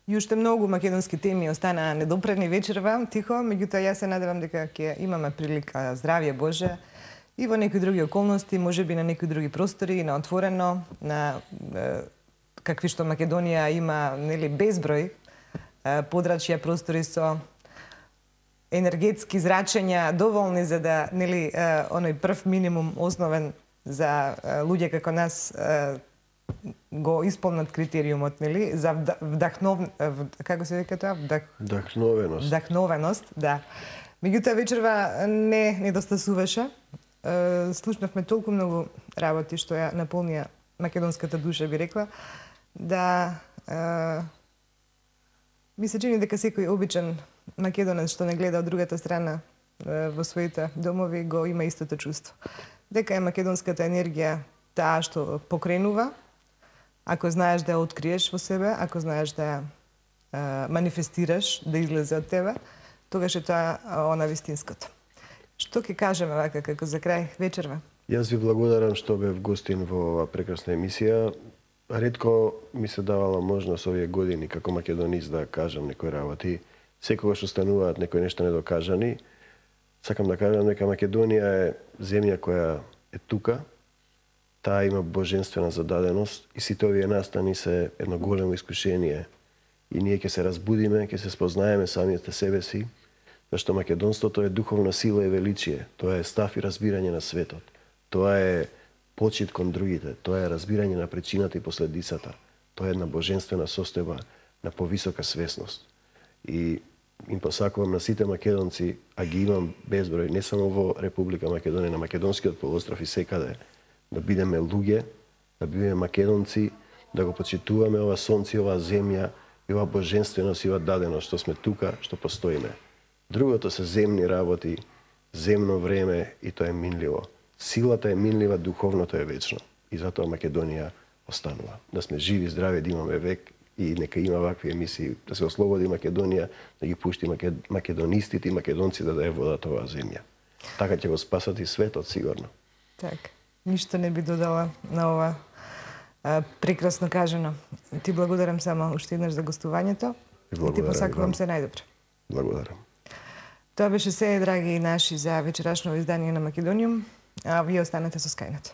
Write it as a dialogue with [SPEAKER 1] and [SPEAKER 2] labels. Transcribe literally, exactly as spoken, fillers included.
[SPEAKER 1] И уште многу македонски теми останаа недопрени вечерва, тихо, меѓутоа јас се надевам дека ќе имаме прилика, здравје Боже, и во некои други околности, можеби на некои други простори, на отворено, на е, какви што Македонија има, нели, безброј е, подрачја простори со енергетски зрачења доволни за да, нели, е, оној прв минимум основен за е, луѓе како нас е, го исполнат критериумот, нели, за вдахнов... како се вика тоа? Вдах...
[SPEAKER 2] Вдахновеност.
[SPEAKER 1] Вдахновеност, да. Меѓутоа вечерва не недостасуваше. Слушнавме толку многу работи што ја наполнија македонската душа, би рекла, да е, ми се чини дека секој обичен македонец што не гледа од другата страна е, во своите домови го има истото чувство. Дека е македонската енергија таа што покренува, ако знаеш да ја откриеш во себе, ако знаеш да ја е, манифестираш, да излезе од тебе, тогаш е тоа она вистинското. Што ќе кажеме вака како за крај вечерва?
[SPEAKER 2] Јас ви благодарам што бев гостин во оваа прекрасна емисија. Ретко ми се давала можност овие години како македонист да кажам некои работи. Секогаш остануваат некои нешта недокажани. Сакам да кажам дека Македонија е земја која е тука. Таа има божествена зададеност и сите овие настани се едно големо искушение. И ние ќе се разбудиме, ќе се спознаеме самите себе си, зашто македонството е духовна сила и величие. Тоа е став и разбирање на светот. Тоа е почит кон другите. Тоа е разбирање на причината и последицата. Тоа е една божествена состојба на повисока свесност. И им посакувам на сите македонци, а ги имам безброј, не само во Република Македонија, на македонскиот полуостров и секаде, да бидеме луѓе, да бидеме македонци, да го почитуваме ова сонце, ова земја и ова божественост и ова даденост што сме тука, што постоиме. Другото се земни работи, земно време и тоа е минливо. Силата е минлива, духовното е вечно. И затоа Македонија останува. Да сме живи, здрави, да имаме век и нека има вакви емисии, да се ослободи Македонија, да ги пушти македонистите и македонците да ја водат оваа земја. Така ќе го спасат и светот, сигурно.
[SPEAKER 1] Така. Ништо не би додала на ова а, прекрасно кажано. Ти благодарам само уште еднаш за гостувањето и ти посакувам се најдобро.
[SPEAKER 2] Благодарам.
[SPEAKER 1] Тоа беше се, драги наши, за вечерашно издание на Македониум, а вие останете со Скајнет.